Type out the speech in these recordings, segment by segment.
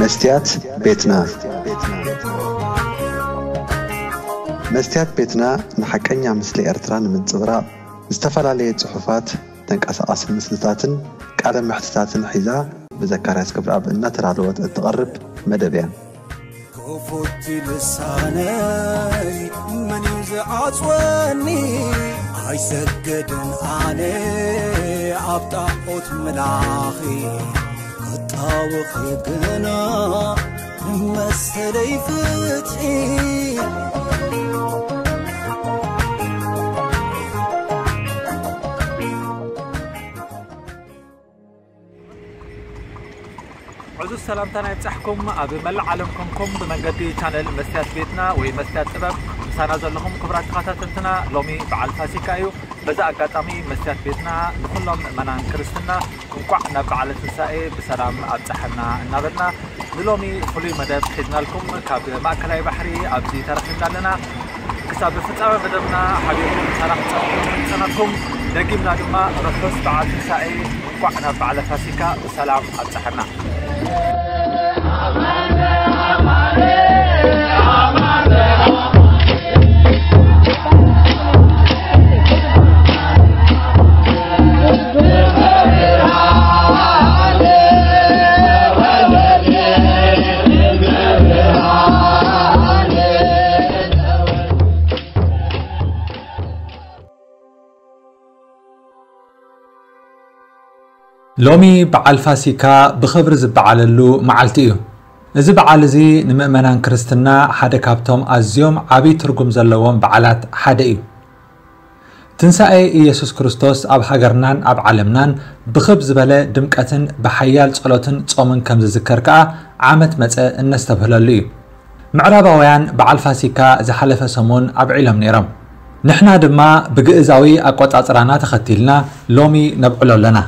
መስትያት ቤትና። መስትያት ቤትና ንሓቀኛ ምስሊ ኤርትራ ንምንጽብራቕ ዝተፈላለየ ጽሑፋት፣ ተንቀሳቓሲ ምስልታትን ቃለ መሕትታትን ሒዛ ብዘካርያስ ገብረኣብ እናተዳለወት እትቐርብ መደብ እያ። ክፉት ልሳነይ መን እዩ ዝዓጽወኒ? ኣይሰግድን ኣነ ኣብ ጣዖት ምላኺ፣ ክጣወኺ ግና መሰለይ ፍትሒ። ዕዙዝ ሰላምታና ይብጻሕኩም። ኣብ መላእ ዓለም ኮንኩም ብመንገዲ ቻነል መስትያት ቤትና ወይ መስትያት ጥበብ ምሳና ዘለኹም ክቡራት ተኸታተልትና፣ ሎሚ በዓል ፋሲካ እዩ። በዚ ኣጋጣሚ መስትያት ቤትና ንኹሎም ምእመናን ክርስትና እንቋዕ ናብ በዓለ ትንሳኤ ብሰላም ኣብጽሐና እናበልና፣ ንሎሚ ፍሉይ መደብ ሒዝናልኩም ካብ ማእከላይ ባሕሪ ኣብዚ ተረኺብና ኣለና። ክሳብ ፍጻመ መደብና ሓቢርኩም ምሳና ክትጸንሑ ንጽንሓኩም። ደጊምና ድማ ርሑስ በዓል ትንሳኤ፣ እንቋዕ ናብ በዓለ ፋሲካ ብሰላም ኣብጽሐና። ሎሚ በዓል ፋሲካ ብኽብሪ ዝበዓለሉ መዓልቲ እዩ። እዚ በዓል እዚ ንምእመናን ክርስትና ሓደ ካብቶም ኣዝዮም ዓብዪ ትርጉም ዘለዎም በዓላት ሓደ እዩ። ትንሳኤ ኢየሱስ ክርስቶስ ኣብ ሃገርናን ኣብ ዓለምናን ብኽብ ዝበለ ድምቀትን ብሓያል ጸሎትን ጾምን ከም ዝዝከር ከኣ ዓመት መጸ እነስተብህለሉ እዩ። ምዕራባውያን በዓል ፋሲካ ዝሓለፈ ሰሙን ኣብዒሎም ነይሮም። ንሕና ድማ ብግእዛዊ ኣቆጻጽራና ተኸቲልና ሎሚ ነብዕሎ ኣለና።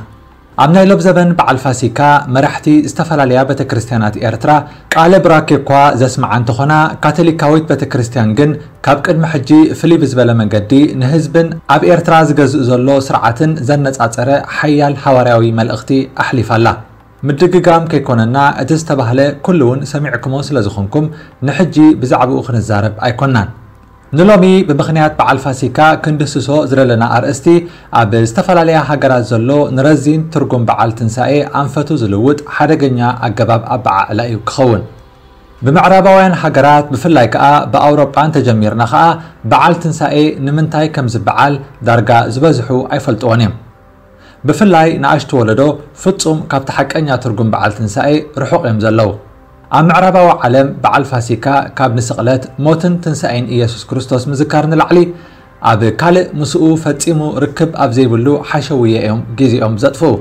ኣብ ናይ ሎብ ዘበን በዓል ፋሲካ መራሕቲ ዝተፈላለያ ቤተ ክርስቲያናት ኤርትራ ቃለ ቡራኬ እኳ ዘስምዓ እንተኾና፣ ካቶሊካዊት ቤተ ክርስቲያን ግን ካብ ቅድሚ ሕጂ ፍልይ ብዝበለ መንገዲ ንህዝብን ኣብ ኤርትራ ዝገዝእ ዘሎ ስርዓትን ዘነጻጸረ ሓያል ሃዋርያዊ መልእኽቲ ኣሕሊፋ ኣላ። ምድግጋም ከይኮነና፣ እቲ ዝተባህለ ኩሉ እውን ሰሚዕኩሞ ስለ ዝኾንኩም፣ ንሕጂ ብዛዕባኡ ክንዛረብ ኣይኮናን። ንሎሚ ብምኽንያት በዓል ፋሲካ ክንድስሶ ዝደለና ኣርእስቲ፣ ኣብ ዝተፈላለያ ሃገራት ዘሎ ንረዚን ትርጉም በዓል ትንሳኤ ኣንፈቱ ዝልውጥ ሓደገኛ ኣገባብ ኣበዓዕላ እዩ ክኸውን። ብምዕራባውያን ሃገራት፣ ብፍላይ ከኣ ብኣውሮጳ እንተጀሚርና ከኣ፣ በዓል ትንሳኤ ንምንታይ ከም ዝበዓል ዳርጋ ዝበዝሑ ኣይፈልጥዎን እዮም። ብፍላይ ንኣሽቱ ወለዶ ፍጹም ካብቲ ሓቀኛ ትርጉም በዓል ትንሳኤ ርሑቕ እዮም ዘለዉ። ኣብ ምዕራባዊ ዓለም በዓል ፋሲካ ካብ ንስቕለት፣ ሞትን ትንሳኤን ኢየሱስ ክርስቶስ ምዝካር ንላዕሊ፣ ኣብ ካልእ ምስኡ ፈጺሙ ርክብ ኣብ ዘይብሉ ሓሸውየ እዮም ግዜኦም ዘጥፍኡ።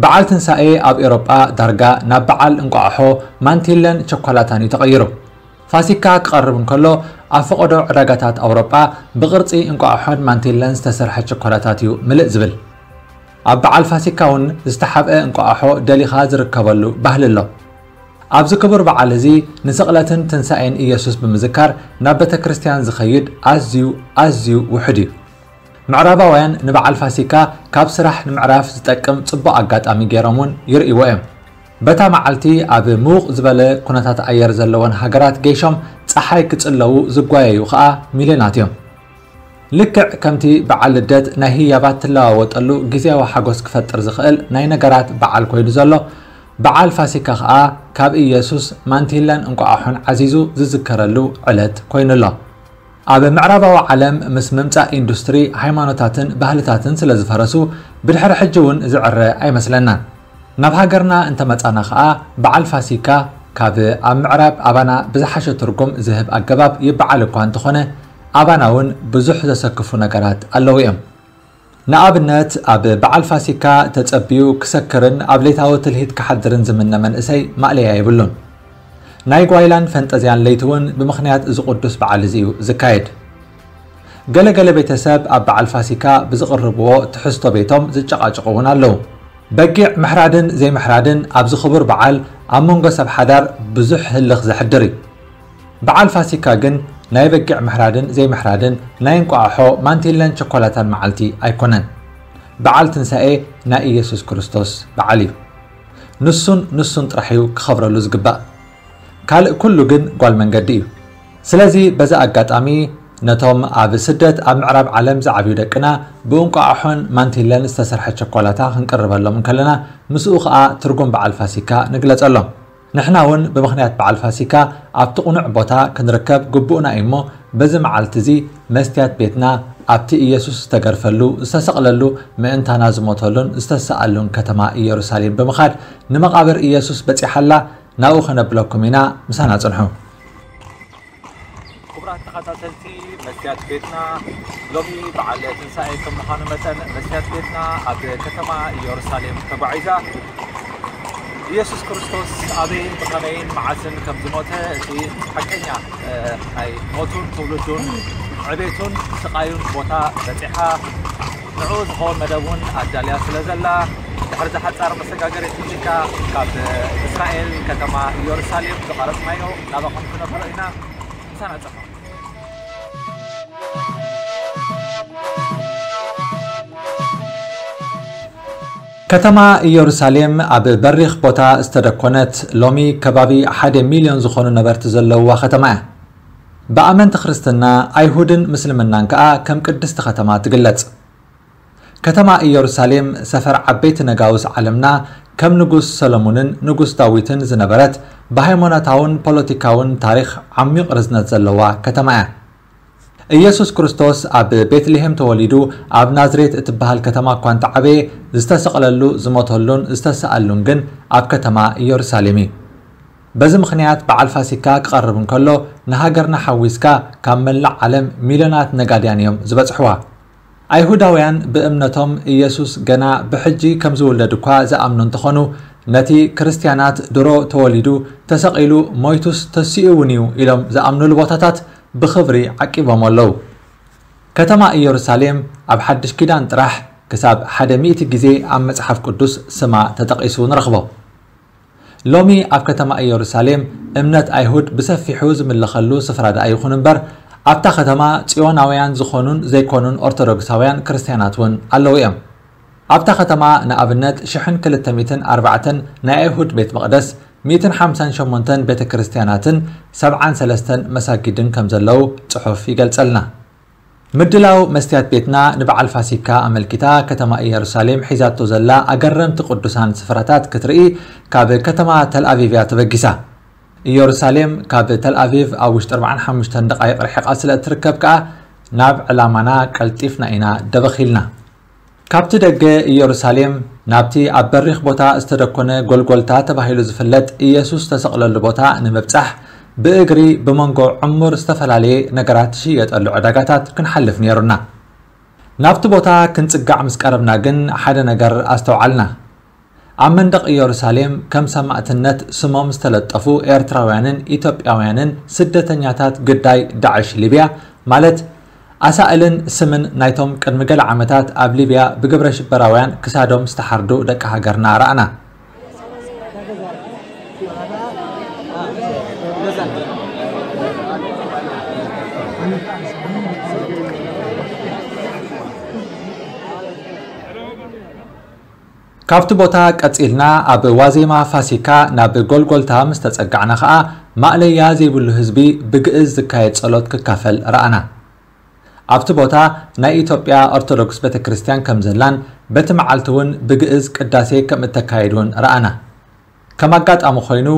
በዓል ትንሳኤ ኣብ ኤውሮጳ ዳርጋ ናብ በዓል እንቋቑሖ፣ ማንቲለን ቸኮላታን እዩ ተቐይሩ። ፋሲካ ክቐርብ እንከሎ፣ ኣብ ፈቐዶ ዕዳጋታት ኣውሮጳ ብቕርጺ እንቋቑሖን ማንቲለን ዝተሰርሐ ቸኮላታት እዩ ምልእ ዝብል። ኣብ በዓል ፋሲካ እውን ዝተሓብአ እንቋቑሖ ደሊኻ ዝርከበሉ ባህሊ ኣሎ። ኣብዚ ክቡር በዓል እዚ ንስቕለትን ትንሳኤን ኢየሱስ ብምዝካር ናብ ቤተ ክርስቲያን ዝኸይድ ኣዝዩ፣ ኣዝዩ ውሑድ እዩ። ምዕራባውያን ንበዓል ፋሲካ ካብ ስራሕ ንምዕራፍ ዝጠቅም ጽቡቕ ኣጋጣሚ ገይሮም እውን ይርእይዎ እዮም። በታ መዓልቲ ኣብ ምዉቕ ዝበለ ኩነታት ኣየር ዘለወን ሃገራት ገይሾም ጸሓይ ክጽለዉ ዝጓየዩ ኸኣ ሚልዮናት እዮም። ልክዕ ከምቲ በዓል ልደት ናይ ህያባት ትለዋወጠሉ ግዜያዊ ሓጎስ ክፈጥር ዝኽእል ናይ ነገራት በዓል ኮይኑ ዘሎ፣ በዓል ፋሲካ ኸኣ ካብ ኢየሱስ ማንቲለን እንቋቑሖን ዓዚዙ ዝዝከረሉ ዕለት ኮይኑ ኣሎ። ኣብ ምዕራባዊ ዓለም ምስ ምምጻእ ኢንዱስትሪ፣ ሃይማኖታትን ባህልታትን ስለ ዝፈረሱ፣ ብድሕሪ ሕጂ እውን ዝዕረ ኣይመስለናን። ናብ ሃገርና እንተመጻና ኸኣ፣ በዓል ፋሲካ ካብ ኣብ ምዕራብ ኣባና ብዝሓሸ ትርጉም ዝህብ ኣገባብ ይበዓል እኳ እንተኾነ፣ ኣባና እውን ብዙሕ ዘሰክፉ ነገራት ኣለዉ እዮም። ንኣብነት፣ ኣብ በዓል ፋሲካ ተጸብዩ ክሰክርን ኣብ ሌታዊ ትልሂት ክሓድርን ዝምነ መንእሰይ ማእለያ የብሉን። ናይ ጓይላን ፈንጠዝያን ለይቲ እውን ብምኽንያት እዚ ቅዱስ በዓል እዚ እዩ ዝካየድ። ገለ ገለ ቤተሰብ ኣብ በዓል ፋሲካ ብዝቕርብዎ ትሕዝቶ ቤቶም ዝጨቓጨቑ እውን ኣለዉ። በጊዕ ምሕራድን ዘይምሕራድን ኣብዚ ክቡር በዓል ኣብ መንጎ ሰብ ሓዳር ብዙሕ ህልኽ ዘሕድር እዩ። በዓል ፋሲካ ግን ናይ በጊዕ ምሕራድን ዘይምሕራድን፣ ናይ እንቋቑሖ፣ ማንቲለን ቸኮላታን መዓልቲ ኣይኮነን። በዓል ትንሳኤ ናይ ኢየሱስ ክርስቶስ በዓል እዩ። ንሱን ንሱን ጥራሕ እዩ ክኸብረሉ ዝግባእ። ካልእ ኩሉ ግን ጓል መንገዲ እዩ። ስለዚ በዚ ኣጋጣሚ ነቶም ኣብ ስደት ኣብ ምዕራብ ዓለም ዝዓብዩ ደቅና ብእንቋቑሖን ማንቲለን ዝተሰርሐ ቸኮላታ ክንቅርበሎም እንከለና ምስኡ ኸኣ ትርጉም በዓል ፋሲካ ንግለጸሎም። ንሕና እውን ብምኽንያት በዓል ፋሲካ ኣብቲ ቅኑዕ ቦታ ክንርከብ ግቡእና እዩ እሞ በዚ መዓልቲ እዚ መስትያት ቤትና ኣብቲ ኢየሱስ ዝተገርፈሉ፣ ዝተሰቕለሉ፣ ምእንታና ዝሞተሉን ዝተሰኣሉን ከተማ ኢየሩሳሌም ብምኻድ ንመቓብር ኢየሱስ በጺሓላ ናብኡ ከነብለኩም ኢና። ምሳና ጽንሑ። ክቡራት ተኸታተልቲ መስትያት ቤትና፣ ሎሚ በዓል ትንሳኤ ከም ምዃኑ መጠን መስትያት ቤትና ኣብ ከተማ ኢየሩሳሌም ተጓዒዛ ኢየሱስ ክርስቶስ ኣበይን ብኸመይን መዓስን ከም ዝሞተ እቲ ሓቀኛ ናይ ሞቱን ትውልዱን ዕቤቱን ስቓዩን ቦታ በጺሓ ንዕኡ ዝኸውን መደብ እውን ኣዳልያ ስለ ዘላ ድሕሪ ዝሓጻር መሰጋገሪት ሙዚቃ ካብ እስራኤል ከተማ ኢየሩሳሌም ዝቐረጽናዮ ናባኹም ክነብሮ ኢና። ምሳና ጸፋ። ከተማ ኢየሩሳሌም ኣብ በሪኽ ቦታ ዝተደኮነት ሎሚ ከባቢ ሓደ ሚልዮን ዝኾኑ ነበርቲ ዘለውዋ ከተማ እያ። ብኣመንቲ ክርስትና ኣይሁድን ምስልምናን ከኣ ከም ቅድስቲ ከተማ ትግለጽ። ከተማ ኢየሩሳሌም ሰፈር ዓበይቲ ነጋውስ ዓለምና ከም ንጉስ ሰሎሙንን ንጉስ ዳዊትን ዝነበረት ብሃይማኖታውን ፖለቲካውን ታሪኽ ዓሚቕ ርዝነት ዘለዋ ከተማ እያ። ኢየሱስ ክርስቶስ ኣብ ቤትልሄም ተወሊዱ ኣብ ናዝሬት እትበሃል ከተማ እኳ እንተዓበየ ዝተሰቕለሉ ዝሞተሉን ዝተሰኣሉን ግን ኣብ ከተማ ኢየሩሳሌም እዩ። በዚ ምኽንያት በዓል ፋሲካ ክቐርብ እንከሎ ንሃገርና ሓዊስካ ካብ መላእ ዓለም ሚልዮናት ነጋድያን እዮም ዝበጽሕዋ። ኣይሁዳውያን ብእምነቶም ኢየሱስ ገና ብሕጂ ከም ዝውለድ እኳ ዝኣምኑ እንተኾኑ ነቲ ክርስትያናት ድሮ ተወሊዱ ተሰቒሉ ሞይቱስ ተሲኡ እውን እዩ ኢሎም ዝኣምኑሉ ቦታታት ብኽብሪ ዓቂቦም ኣለዉ። ከተማ ኢየሩሳሌም ኣብ ሓድሽ ኪዳን ጥራሕ ክሳብ ሓደ ሚእቲ ግዜ ኣብ መጽሓፍ ቅዱስ ስማ ተጠቒሱ ንረኽቦ። ሎሚ ኣብ ከተማ ኢየሩሳሌም እምነት ኣይሁድ ብሰፊሑ ዝምለኸሉ ስፍራ ደኣ ይኹን እምበር ኣብታ ከተማ ጽዮናውያን ዝኾኑን ዘይኮኑን ኦርቶዶክሳውያን ክርስትያናት እውን ኣለዉ እዮም። ኣብታ ከተማ ንኣብነት ሽሕን ክልተ ሚእትን ኣርባዕተን ናይ ኣይሁድ ቤት መቕደስ፣ ሚእትን ሓምሳን ሸሞንተን ቤተ ክርስትያናትን ሰብዓን ሰለስተን መሳጊድን ከም ዘለዉ ጽሑፍ ይገልጸልና። ምድላው መስትያት ቤትና ንበዓል ፋሲካ ኣመልኪታ ከተማ ኢየሩሳሌም ሒዛቶ ዘላ ኣገረምቲ ቅዱሳን ስፍራታት ክትርኢ ካብ ከተማ ተልኣቪቭ እያ ተበጊሳ። ኢየሩሳሌም ካብ ተልኣቪቭ ኣብ ውሽጢ ኣርባዓን ሓሙሽተን ደቓይቕ ርሒቓ ስለ እትርከብ ከኣ ናብ ዕላማና ቀልጢፍና ኢና ደበኽ ኢልና። ካብቲ ደገ ኢየሩሳሌም ናብቲ ኣብ በሪኽ ቦታ ዝተደኮነ ጎልጎልታ ተባሂሉ ዝፍለጥ ኢየሱስ ዝተሰቕለሉ ቦታ ንምብጻሕ ብእግሪ ብመንጎ ዕሙር ዝተፈላለየ ነገራት ዝሽየጠሉ ዕዳጋታት ክንሓልፍ ነይሩና። ናብቲ ቦታ ክንጽጋዕ ምስ ቀረብና ግን ሓደ ነገር ኣስተውዓልና። ኣብ መንደቕ ኢየሩሳሌም ከም ሰማእትነት ስሞም ዝተለጠፉ ኤርትራውያንን ኢትዮጵያውያንን ስደተኛታት ግዳይ ዳዕሽ ሊብያ ማለት ኣሳእልን ስምን ናይቶም ቅድሚ ገለ ዓመታት ኣብ ሊብያ ብግብረ ሽበራውያን ክሳዶም ዝተሓርዱ ደቂ ሃገርና ረኣና። ካብቲ ቦታ ቀጺልና ኣብ ዋዜማ ፋሲካ ናብ ጎልጎልታ ምስ ተጸጋዕና ኸኣ ማእለያ ዘይብሉ ህዝቢ ብግእዝ ዝካየድ ጸሎት ክካፈል ረኣና። ኣብቲ ቦታ ናይ ኢትዮጵያ ኦርቶዶክስ ቤተ ክርስቲያን ከም ዘላን በቲ መዓልቲ እውን ብግእዝ ቅዳሴ ከም እተካየድ እውን ረኣና። ከም ኣጋጣሚ ኮይኑ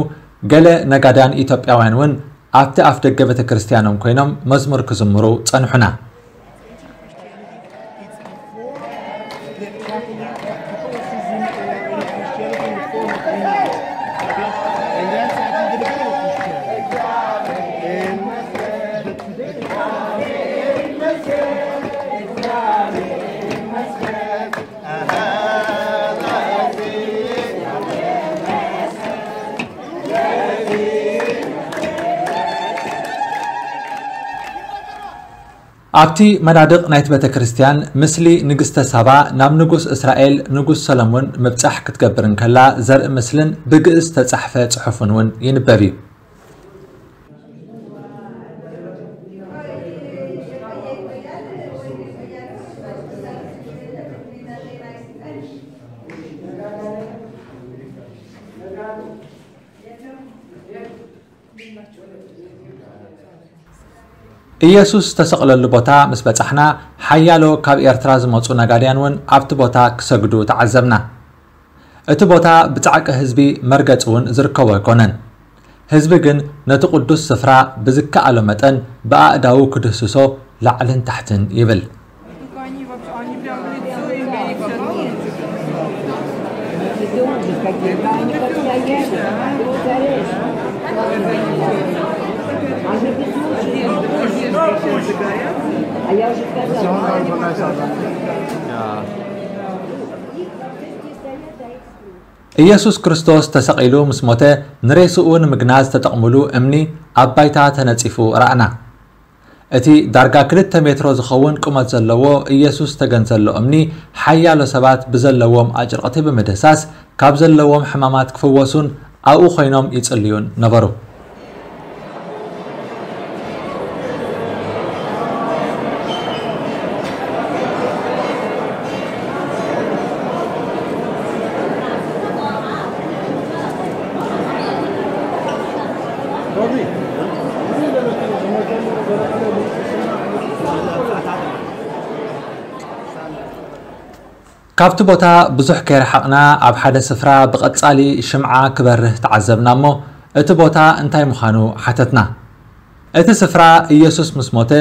ገለ ነጋድያን ኢትዮጵያውያን እውን ኣብቲ ኣፍ ደገ ቤተ ክርስቲያኖም ኮይኖም መዝሙር ክዝምሩ ጸንሑና። ኣብቲ መናድቕ ናይቲ ቤተ ክርስቲያን ምስሊ ንግስተ ሳባ ናብ ንጉስ እስራኤል ንጉስ ሰሎሞን ምብጻሕ ክትገብር እንከላ ዘርኢ ምስልን ብግእዝ ዝተጻሕፈ ጽሑፍን እውን ይንበብ እዩ። ኢየሱስ ዝተሰቕለሉ ቦታ ምስ በጻሕና፣ ሓያሎ ካብ ኤርትራ ዝመጹ ነጋድያን እውን ኣብቲ ቦታ ክሰግዱ ተዓዘብና። እቲ ቦታ ብጻዕቂ ህዝቢ መርገጺ እውን ዝርከቦ ኣይኮነን። ህዝቢ ግን ነቲ ቅዱስ ስፍራ ብዝከኣሎ መጠን ብኣእዳዉ ክድህስሶ ላዕልን ታሕትን ይብል። ኢየሱስ ክርስቶስ ተሰቒሉ ምስ ሞተ፣ ንሬስኡ ንምግናዝ ዝተጠቕሙሉ እምኒ ኣብ ባይታ ተነጺፉ ረኣና። እቲ ዳርጋ ክልተ ሜትሮ ዝኸውን ቁመት ዘለዎ ኢየሱስ ዝተገንዘሎ እምኒ፣ ሓያሎ ሰባት ብዘለዎም ኣጭርቕቲ ብምድህሳስ፣ ካብ ዘለዎም ሕማማት ክፍወሱን ኣብኡ ኮይኖም ይጽልዩን ነበሩ። ካብቲ ቦታ ብዙሕ ከይረሓቕና፣ ኣብ ሓደ ስፍራ ብቐጻሊ ሽምዓ ክበርህ ተዓዘብና እሞ፣ እቲ ቦታ እንታይ ምዃኑ ሓተትና። እቲ ስፍራ፣ ኢየሱስ ምስ ሞተ፣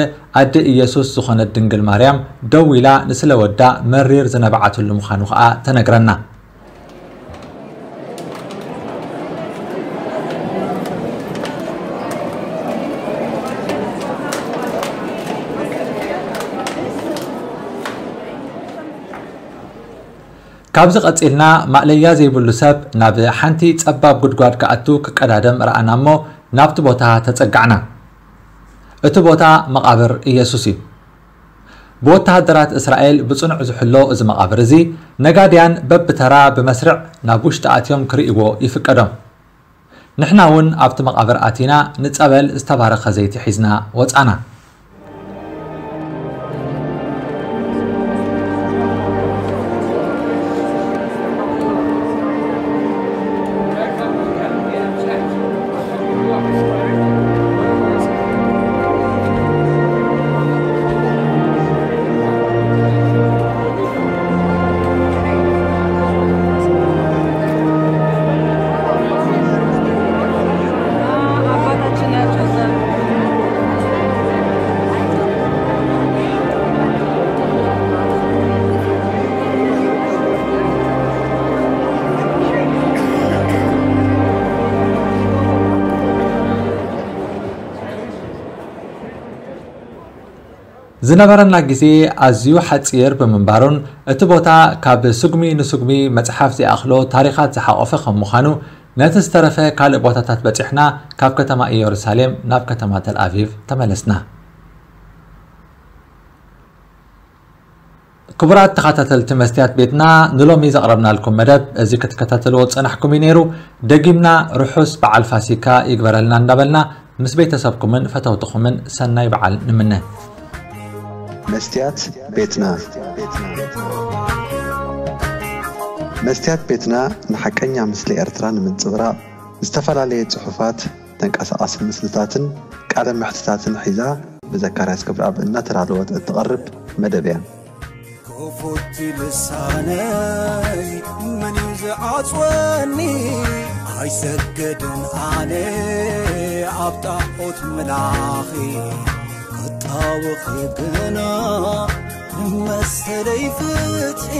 ኣደ ኢየሱስ ዝኾነት ድንግል ማርያም ደው ኢላ ንስለ ወዳ መሪር ዝነበዓትሉ ምዃኑ ኸኣ ተነግረና። ካብዚ ቀጺልና፣ ማእለያ ዘይብሉ ሰብ ናብ ሓንቲ ጸባብ ጉድጓድ ክኣቱ ክቀዳደም ረኣና እሞ፣ ናብቲ ቦታ ተጸጋዕና። እቲ ቦታ መቓብር ኢየሱስ እዩ። ብወተሃደራት እስራኤል ብጽኑዕ ዝሕሎ እዚ መቓብር እዚ፣ ነጋድያን በብተራ ብመስርዕ ናብ ውሽጢ ኣትዮም ክርእይዎ ይፍቀዶም። ንሕና እውን ኣብቲ መቓብር ኣቲና፣ ንጸበል ዝተባረኸ ዘይቲ ሒዝና ወጻና። ዝነበረና ግዜ ኣዝዩ ሓጺር ብምንባሩን፣ እቲ ቦታ ካብ ስጉሚ ንስጉሚ መጽሓፍ ዘይኣኽሎ ታሪኻት ዝሓቖፈ ከም ምዃኑ፣ ነቲ ዝተረፈ ካልእ ቦታታት በጺሕና፣ ካብ ከተማ ኢየሩሳሌም ናብ ከተማ ተልኣቪቭ ተመለስና። ክቡራት ተኸታተልቲ መስትያት ቤትና፣ ንሎሚ ዘቕረብናልኩም መደብ እዚ ክትከታተልዎ ዝጸናሕኩም እዩ ነይሩ። ደጊምና ርሑስ በዓል ፋሲካ ይግበረልና እንዳበልና፣ ምስ ቤተሰብኩምን ፈተውትኹምን ሰናይ በዓል ንምነ። መስትያት ቤትና። መስትያት ቤትና ንሓቀኛ ምስሊ ኤርትራ ንምንጽብራቕ፣ ዝተፈላለየ ጽሑፋት፣ ተንቀሳቓሲ ምስልታትን ቃለ መሕትታትን ሒዛ ብዘካርያስ ክብረኣብ እናተዳለወት እትቐርብ መደብ እያ። ክፉት ልሳነይ መን እዩ ዝዓጽወኒ? ኣይሰገድን ኣነ ኣብ ጣዖት ምላኺ። ክጣወኺ ግና መሰለይ ፍትሒ።